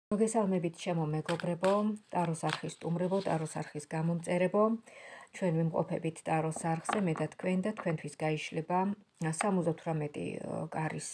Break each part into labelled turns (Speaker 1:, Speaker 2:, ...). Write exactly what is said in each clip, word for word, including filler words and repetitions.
Speaker 1: მოგესალმებით ჩემო მეგობრებო, ტაროს არხის სტუმრებო, ტაროს არხის გამომწერებო. ჩვენ ვიმყოფებით ტაროს არხზე, მე და თქვენ და თქვენთვის გაიშლება სამოცდათვრამეტი კარის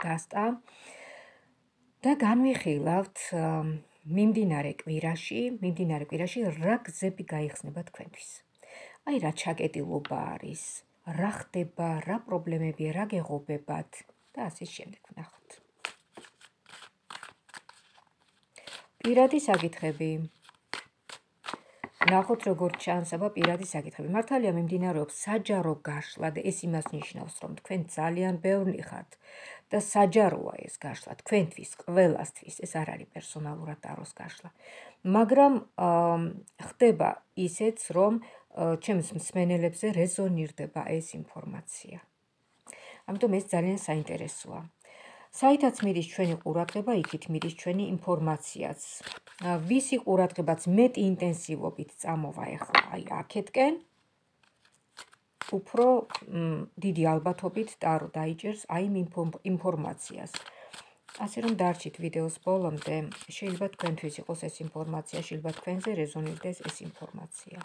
Speaker 1: დასტა და განვიხილავთ მიმდინარე კვირაში, მიმდინარე კვირაში რა გზები გაიხსნება თქვენთვის. აი რა ჩაკეტილობა არის, რა ხდება, რა პრობლემებია, რა გეღობებათ და ასე შემდეგ ვნახოთ. პირადი საკითხები. ნახოთ როგორ ჩანს, აბა პირადი საკითხები. მართალია მიმდინარეობს საჯარო გაშლა და ეს იმას ნიშნავს, რომ თქვენ ძალიან ბევრი ხართ და საჯაროა ეს გაშლა თქვენთვის, ყველასთვის. ეს არ არის პერსონალურად ტაროს გაშლა. მაგრამ ხდება ისეც, რომ ჩემს მსმენელებზე რეზონირდება ეს ინფორმაცია. ამიტომ ეს ძალიან საინტერესოა. საითაც მიდის ჩვენი ყურადღება, იქით მიდის ჩვენი ინფორმაციაც. ვისი ყურადღებაც მეტი ინტენსივობით წამოვა ახლა აი აქეთკენ, უფრო დიდი ალბათობით ტარო დაიჭერს აი იმ ინფორმაციას. ასე რომ დარჩით ვიდეოს ბოლომდე, შეიძლება თქვენთვის იყოს ეს ინფორმაცია, შეიძლება თქვენზე რეზონირდეს ეს ინფორმაცია.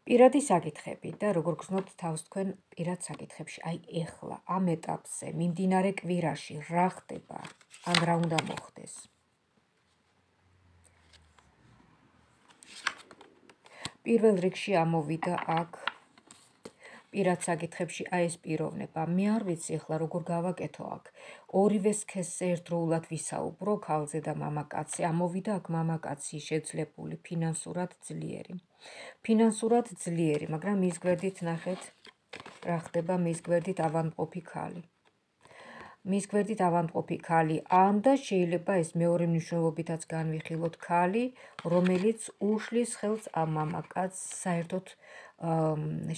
Speaker 1: პირადი საკითხები და როგორ გრძნობთ თავს თქვენ პირად საკითხებში, აი ეხლა ამ ეტაპზე, მიმდინარე კვირაში რა ხდება, ან რა უნდა მოხდეს. პირველ რიგში ამოვიდა აქ პირად საკითხებში აი ეს პიროვნება. მე არ ვიცი ახლა როგორ გავაკეთო აქ. ორივე სქესზე ერთდროულად ვისაუბრო, ქალზე და მამაკაცზე. ამოვიდა აქ მამაკაცი შეძლებული, ფინანსურად ძლიერი. ფინანსურად ძლიერი, მაგრამ მის გვერდით ნახეთ რა ხდება, მის გვერდით ავადმყოფი ქალი. მის გვერდით ავადმყოფი ქალი, ან და შეიძლება ეს მეორე მნიშვნელობითაც განვიხილოთ ქალი, რომელიც უშლის ხელს ამ მამაკაცს, საერთოდ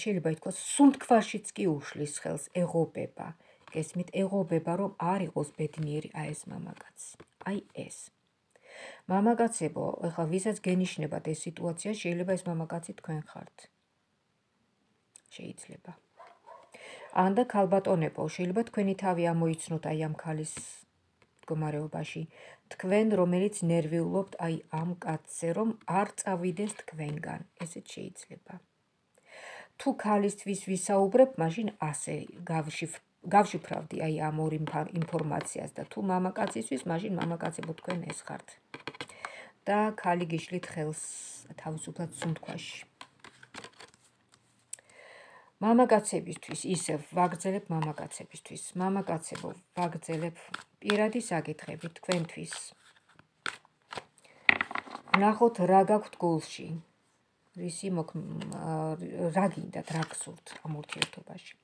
Speaker 1: შეიძლება ითქვას, სუნთქვაშიც კი უშლის ხელს, ეღობება. გესმით, ეღობება, რომ არ იყოს ბედნიერი აი ეს მამაკაცი. აი ეს. მამაკაცებო, ეხლა ვისაც გენიშნებათ ეს სიტუაცია, შეიძლება ეს მამაკაცი თქვენ ხართ. შეიძლება. ან და ქალბატონებო, შეიძლება თქვენი თავი ამოიცნოთ აი ამ ქალის მდგომარეობაში. თქვენ, რომელიც ნერვიულობთ აი ამ კაცზე, რომ არ წავიდეს თქვენგან. ესეც შეიძლება. თუ ქალისთვის ვისაუბრებ, მაშინ ასე გავშიფრავდი აი ამ ორ ინფორმაციას და თუ მამაკაცისთვის, მაშინ მამაკაცებო თქვენ ეს ხართ. და ქალი გიშლით ხელს თავისუფლად სუნთქვაში. მამაკაცებისთვის ისევ ვაგრძელებ მამაკაცებისთვის. მამაკაცებო, ვაგრძელებ პირადი საკითხები თქვენთვის. ნახოთ რა გაქვთ გულში. რისი რა გინდათ, რა გსურთ ამ ურთიერთობაში.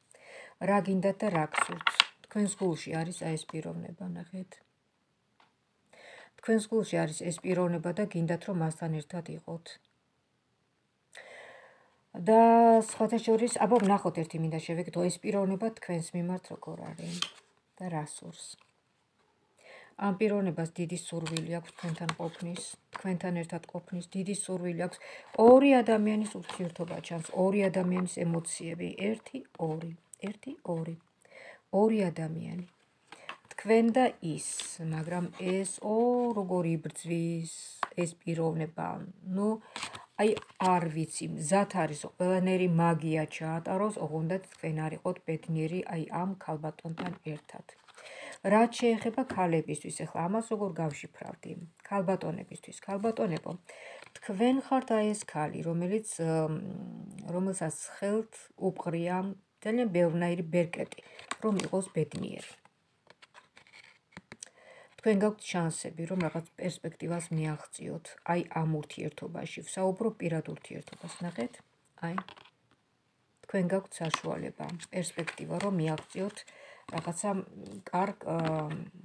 Speaker 1: რა გინდათ და რა გსურთ. თქვენს გულში არის აი ეს პიროვნება, ნახეთ. თქვენს გულში არის ეს პიროვნება და გინდათ რომ მასთან ერთად იყოთ. და სხვათა შორის, აბა ვნახოთ ერთი მინდა შევეკითხო, ეს პიროვნება თქვენს მიმართ როგორ არის და რა სურს. ამ პიროვნებას დიდი სურვილი აქვს თქვენთან ყოფნის, თქვენთან ერთად ყოფნის, დიდი სურვილი აქვს. ორი ადამიანის ურთიერთობა ჩანს, ორი ადამიანის ემოციები, ერთი, ორი, ერთი, ორი. ორი ადამიანი. თქვენ და ის, მაგრამ ეს ო როგორ იბრძვის ეს პიროვნება. ნუ აი არ ვიცი, მზად არის ყველანაირი მაგია ჩაატაროს, ოღონდ თქვენ არ იყოთ ბედნიერი აი ამ ქალბატონთან ერთად. რაც შეეხება ქალებისთვის, ახლა ამას როგორ გავშიფრავდი? ქალბატონებისთვის, ქალბატონებო, თქვენ ხართ აი ეს ქალი, რომელიც რომელსაც ხელთ უყრია ძალიან ბევრნაირი ბერკეტი, რომ იყოს ბედნიერი. თქვენ გაქვთ შანსები, რომ რაღაც პერსპექტივას მიაღწიოთ, აი ამ ურთიერთობაში, ვსაუბრობ პირად ურთიერთობას, ნახეთ, აი, თქვენ გაქვთ საშუალება, პერსპექტივა, რომ მიაღწიოთ რაღაცა კარგ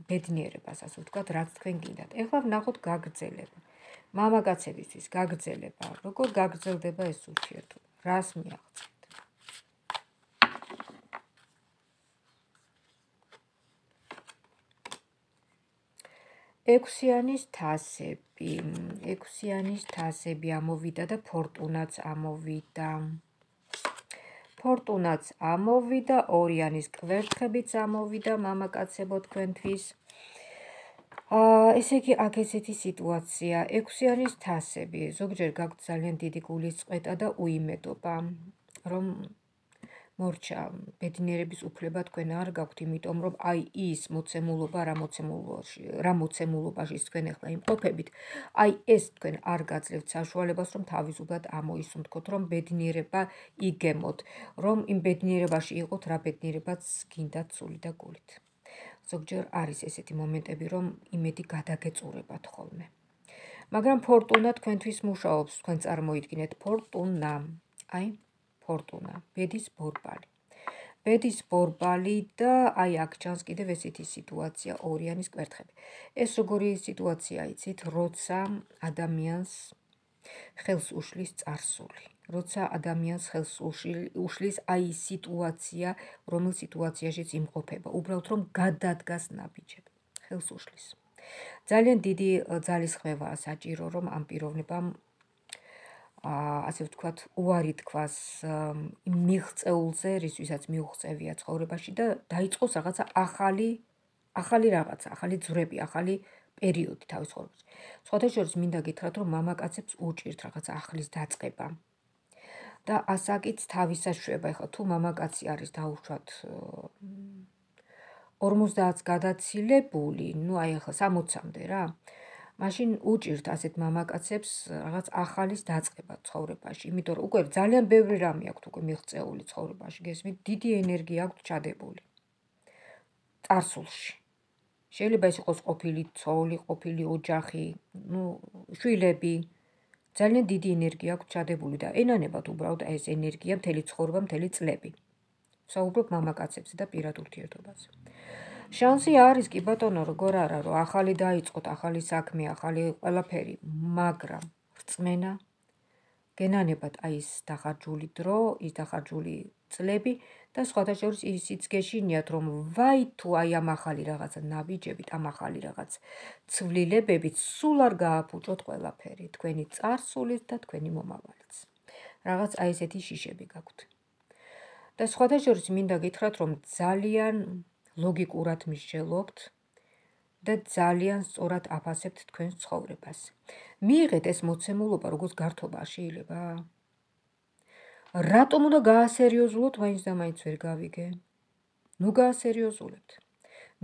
Speaker 1: ბედნიერებას, ასე ვთქვათ, რაც თქვენ გინდათ. ეხლა ვნახოთ გაგრძელება. მამაკაცებისთვის გაგრძელება, როგორ გაგრძელდება ეს ურთიერთობა, რას მიაღწევთ. ექვსიანის თასები, ექვსიანის თასები ამოვიდა და ფორტუნაც ამოვიდა. ფორტუნაც ამოვიდა, ორიანის კვერთხებიც ამოვიდა მამაკაცებო თქვენთვის. ესე იგი, აქ ესეთი სიტუაცია, ექვსიანის თასები, ზოგჯერ გაქვთ ძალიან დიდი გულის წყვეტა და უიმედობა, რომ მორჩა, ბედნიერების უფლება თქვენ არ გაქვთ, იმიტომ რომ აი ის მოცემულობა, რა მოცემულობაში თქვენ ახლა იმყოფებით, აი ეს თქვენ არ გაძლევთ საშუალებას, რომ თავისუფლად ამოისუნთქოთ, რომ ბედნიერება იგემოთ, რომ იმ ბედნიერებაში იყოთ, რა ბედნიერებაც გინდათ სული და გულით. ზოგჯერ არის ესეთი მომენტები, რომ იმედი გადაგეწურებათ ხოლმე. მაგრამ ფორტუნა თქვენთვის მუშაობს, თქვენ წარმოიდგინეთ, ფორტუნა, აი, ფორტუნა, ბედის ბორბალი. ბედის ბორბალი და აი აქ ჩანს კიდევ ესეთი სიტუაცია, ორიანის კვერთხები. ეს როგორი სიტუაცია იცით, როცა ადამიანს ხელს უშლის წარსული. როცა ადამიანს ხელს უშლის აი სიტუაცია, რომელ სიტუაციაშიც იმყოფება, უბრალოდ რომ გადადგას ნაბიჯები, ხელს უშლის. ძალიან დიდი ძალისხმევაა საჭირო, რომ ამ პიროვნებამ ასე ვთქვათ, უარი თქვას იმ მიღწეულზე, რისთვისაც მიუღწევია ცხოვრებაში და დაიწყოს რაღაცა ახალი, ახალი რაღაცა, ახალი ძვრები, ახალი პერიოდი თავის ცხოვრებაში. სხვათა შორის მინდა გითხრათ, რომ მამაკაცებს უჭირთ რაღაცა ახლის დაწყება. და ასაკით თავისას შვება, ეხლა თუ მამაკაცი არის დაუშვათ ორმოცდაათს გადაცილებული, ნუ აი ახლა სამოცამდე რა, მაშინ უჭირთ ასეთ მამაკაცებს რაღაც ახალის დაწყება ცხოვრებაში, იმიტომ რომ უკვე ძალიან ბევრი რამე აქვთ უკვე მიღწეული ცხოვრებაში, გესმით, დიდი ენერგია აქვთ ჩადებული წარსულში. შეიძლება ეს იყოს ყოფილი ცოლი, ყოფილი ოჯახი, ნუ შვილები, ძალიან დიდი ენერგია აქვთ ჩადებული და ენანებათ უბრალოდ ეს ენერგია მთელი ცხოვრება, მთელი წლები. ვსაუბრობ მამაკაცებზე და პირად ურთიერთობაზე. შანსი არის კი ბატონო, როგორ არა, რომ ახალი დაიწყოთ, ახალი საქმე, ახალი ყველაფერი, მაგრამ რწმენა, გენანებათ აი ეს დახარჯული დრო, ის დახარჯული წლები და სხვათა შორის ისიც გეშინიათ, რომ ვაი თუ აი ამ ახალი რაღაცა ნაბიჯებით, ამ ახალი რაღაც ცვლილებებით სულ არ გააფუჭოთ ყველაფერი, თქვენი წარსულით და თქვენი მომავალიც. რაღაც აი ესეთი შიშები გაქვთ. და სხვათა შორის მინდა გითხრათ, რომ ძალიან ლოგიკურად მსჯელობთ და ძალიან სწორად აფასებთ თქვენს ცხოვრებას. მიიღეთ ეს მოცემულობა, როგორც გართობა შეიძლება? რატომ უნდა გაასერიოზულოთ, მაინც და მაინც ვერ გავიგე? ნუ გაასერიოზულებთ.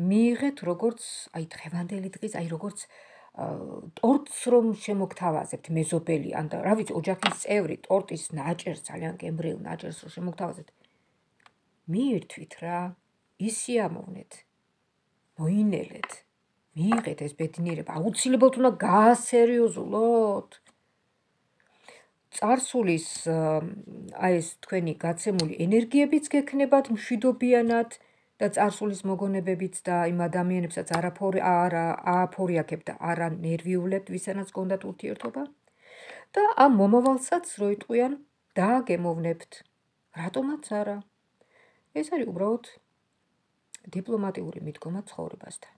Speaker 1: მიიღეთ როგორც აი დღევანდელი დღის, აი როგორც ტორტს რომ შემოგთავაზებთ მეზობელი, ან რა ვიცი, ოჯახის წევრი, ტორტის ნაჭერს, ძალიან გემრიელ ნაჭერს რომ შემოგთავაზებთ. მიირთვით რა, ისიამოვნეთ, მოინელეთ, მიიღეთ ეს ბედნიერება, აუცილებლად უნდა გაასერიოზულოთ. წარსულის აი ეს თქვენი გაცემული ენერგიებიც გექნებათ მშვიდობიანად და წარსულის მოგონებებიც და იმ ადამიანებსაც ააფორიაქებთ და არ ანერვიულებთ, ვისანაც გონდათ ურთიერთობა და ამ მომავალსაც რო იტყვიან დააგემოვნებთ. რატომაც არა? ეს არის უბრალოდ დიპლომატიური მიდგომა ცხოვრებასთან.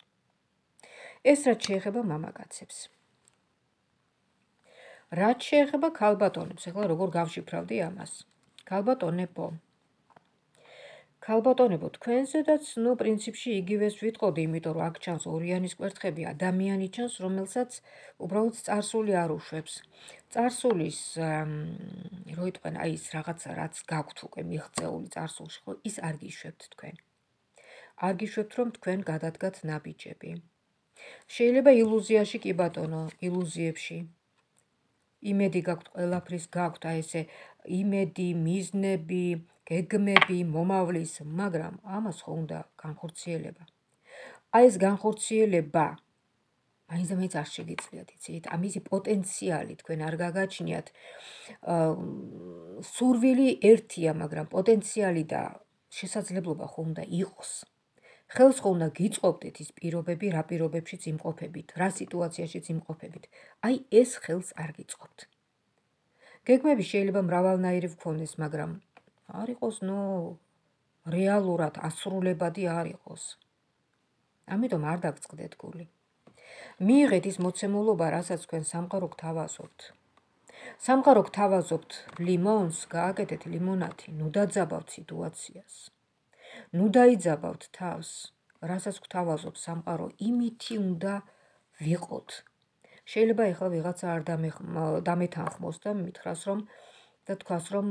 Speaker 1: ეს რაც შეეხება მამაკაცებს. რაც შეეხება ქალბატონებს, ეხლა როგორ გავშიფრავდი ამას? ქალბატონებო. ქალბატონებო, თქვენზედაც, ნუ პრინციპში იგივეს ვიტყოდი, იმიტომ რომ აქ ჩანს ორიანის კვერთხები, ადამიანი ჩანს, რომელსაც უბრალოდ წარსული არ უშვებს. წარსულის რო იტყვენ, აი ის რაღაცა, რაც გაქვთ უკვე მიღწეული წარსულში, ხო, ის არ გიშვებთ თქვენ. არ გიშვებთ, რომ თქვენ გადადგათ ნაბიჯები. შეიძლება ილუზიაში კი ბატონო, ილუზიებში. იმედი გაქვთ, ყველაფრის გაქვთ, აი ესე იმედი, მიზნები, გეგმები, მომავლის, მაგრამ ამას ხო უნდა განხორციელება. აი ეს განხორციელება მაინც და მაინც არ შეგიძლიათ, იცით? ამისი პოტენციალი თქვენ არ გაგაჩნიათ. სურვილი ერთია, მაგრამ პოტენციალი და შესაძლებლობა ხო უნდა იყოს. ხელს ხო უნდა გიწყობდეთ ის პირობები, რა პირობებშიც იმყოფებით, რა სიტუაციაშიც იმყოფებით. აი ეს ხელს არ გიწყობთ. გეგმები შეიძლება მრავალნაირი ვქონდეს, მაგრამ არ იყოს, ნუ რეალურად ასრულებადი არ იყოს. ამიტომ არ დაგწყდეთ გული. მიიღეთ ის მოცემულობა, რასაც თქვენ სამყარო გთავაზობთ. სამყარო გთავაზობთ ლიმონს, გააკეთეთ ლიმონათი, ნუ დაძაბავთ სიტუაციას. ნუ დაიძაბავთ თავს, რასაც გთავაზობ სამყარო, იმითი უნდა ვიყოთ. შეიძლება ეხლა ვიღაცა არ დამეთანხმოს და მითხრას რომ და თქვას რომ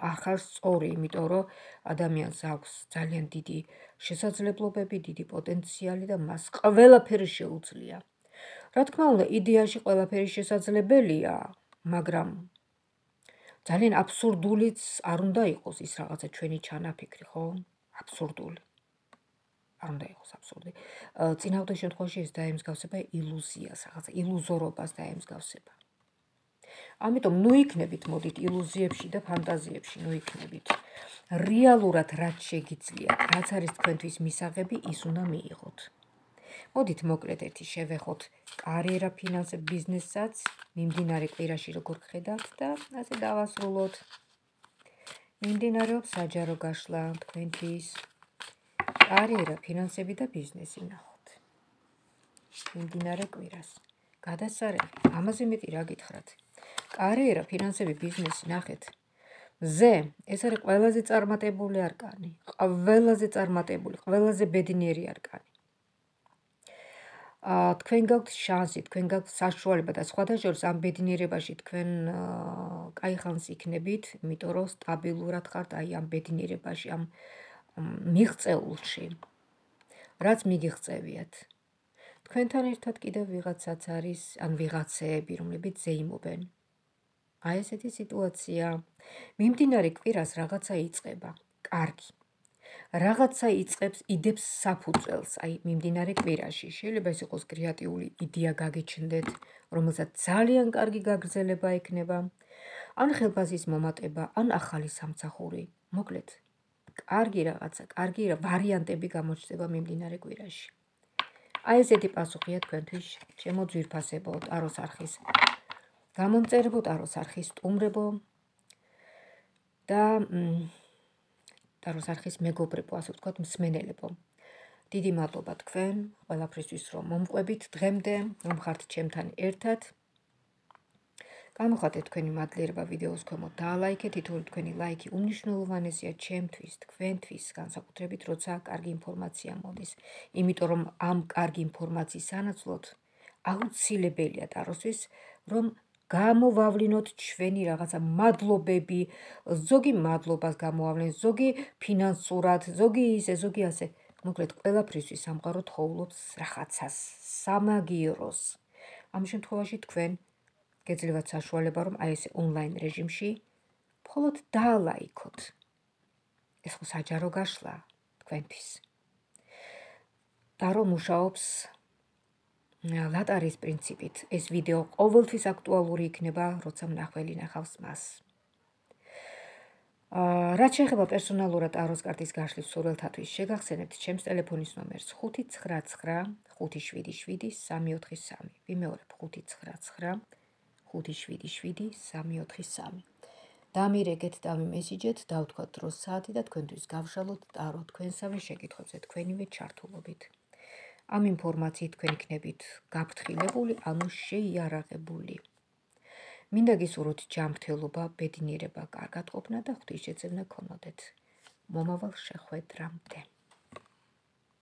Speaker 1: არ ხარ სწორი, იმიტომ რომ ადამიანს აქვს ძალიან დიდი შესაძლებლობები, დიდი პოტენციალი და მას ყველაფერი შეუძლია. რა თქმა უნდა, იდეაში ყველაფერი შესაძლებელია, მაგრამ ძალიან აბსურდულიც არ უნდა იყოს ის რაღაცა ჩვენი ჩანაფიქრი, ხო? აბსურდული. არ უნდა იყოს აბსურდი. წინააღმდეგ შემთხვევაში ეს დაემსგავსება ილუზიას, რაღაცა ილუზორობას დაემსგავსება. ამიტომ ნუ იქნებით მოდით ილუზიებში და ფანტაზიებში, ნუ იქნებით. რეალურად რაც შეგიძლიათ, რაც არის თქვენთვის მისაღები, ის უნდა მიიღოთ. მოდით მოკლედ ერთი შევეხოთ კარიერა, ფინანსები, ბიზნესსაც, მიმდინარე კვირაში როგორ გხედავთ და ასე დავასრულოთ. მიმდინარეობს საჯარო გაშლა თქვენთვის. კარიერა, ფინანსები და ბიზნესი ნახოთ. მიმდინარე კვირას. გადასარევი, ამაზე მეტი რა გითხრათ. კარიერა, ფინანსები, ბიზნესი ნახეთ. მზე, ეს არის ყველაზე წარმატებული არკანი, ყველაზე წარმატებული, ყველაზე ბედნიერი არკანი. თქვენ გაქვთ შანსი, თქვენ გაქვთ საშუალება და სხვათა შორის ამ ბედნიერებაში თქვენ კაი ხანს იქნებით, იმიტომ რომ სტაბილურად ხართ აი ამ ბედნიერებაში, ამ მიღწეულში. რაც მიგიღწევიათ. თქვენთან ერთად კიდევ ვიღაცაც არის, ან ვიღაცები, რომლებიც ზეიმობენ. აი ესეთი სიტუაცია. მიმდინარე კვირას რაღაცა იწყება. კარგი. რაღაცა იწყებს, იდებს საფუძველს, აი მიმდინარე კვირაში. შეიძლება ეს იყოს კრეატიული იდეა გაგიჩნდეთ, რომელსაც ძალიან კარგი გაგრძელება ექნება, ან ხელფასის მომატება, ან ახალი სამსახური. მოკლედ, კარგი რაღაცა, კარგი ვარიანტები გამოჩნდება მიმდინარე კვირაში. აი ესეთი პასუხია თქვენთვის, ჩემო ძვირფასებო, ტაროს არხის გამომწერებო, ტაროს არხის სტუმრებო და ტაროს არხის მეგობრებო, ასე ვთქვათ, მსმენელებო. დიდი მადლობა თქვენ ყველაფრისთვის, რომ მომყვებით დღემდე, რომ ხართ ჩემთან ერთად. გამოხატეთ თქვენი მადლიერება ვიდეოს ქვემოთ, დაალაიქეთ, თითოეული თქვენი ლაიქი უმნიშვნელოვანესია ჩემთვის, თქვენთვის, განსაკუთრებით როცა კარგი ინფორმაცია მოდის. იმიტომ რომ ამ კარგი ინფორმაციის სანაცვლოდ აუცილებელია ტაროსთვის, რომ გამოვავლინოთ ჩვენი რაღაცა მადლობები, ზოგი მადლობას გამოვავლინოთ, ზოგი ფინანსურად, ზოგი ისე, ზოგი ასე. მოკლედ, ყველაფრისთვის სამყარო თხოვლობს რაღაცას, სამაგიეროს. ამ შემთხვევაში თქვენ გეძლევათ საშუალება, რომ აი ესე ონლაინ რეჟიმში მხოლოდ დაალაიქოთ. ეს ხო საჯარო გაშლა თქვენთვის. ტარო მუშაობს ლატარის პრინციპით. ეს ვიდეო ყოველთვის აქტუალური იქნება, როცა მნახველი ნახავს მას. რაც შეეხება პერსონალურად ტაროს კარტის გაშლის სურვილთათვის, შეგახსენებთ ჩემს ტელეფონის ნომერს ხუთი ცხრა ცხრა ხუთი შვიდი შვიდი სამი ოთხი სამი. ვიმეორებ ხუთი ცხრა ცხრა ხუთი შვიდი შვიდი სამი ოთხი სამი. დამირეკეთ, დამიმესიჯეთ, დავთქვათ დროს საათი და თქვენთვის გავშალოთ ტარო თქვენსავე შეკითხვებზე თქვენივე ჩართულობით. ამ ინფორმაციით თქვენ იქნებით გაფრთხილებული, ანუ შეიარაღებული. მინდა გისურვოთ ჯანმრთელობა, ბედნიერება, კარგად ყოფნა და ღვთისმშეწევნა გქონოდეთ. მომავალ შეხვედრამდე.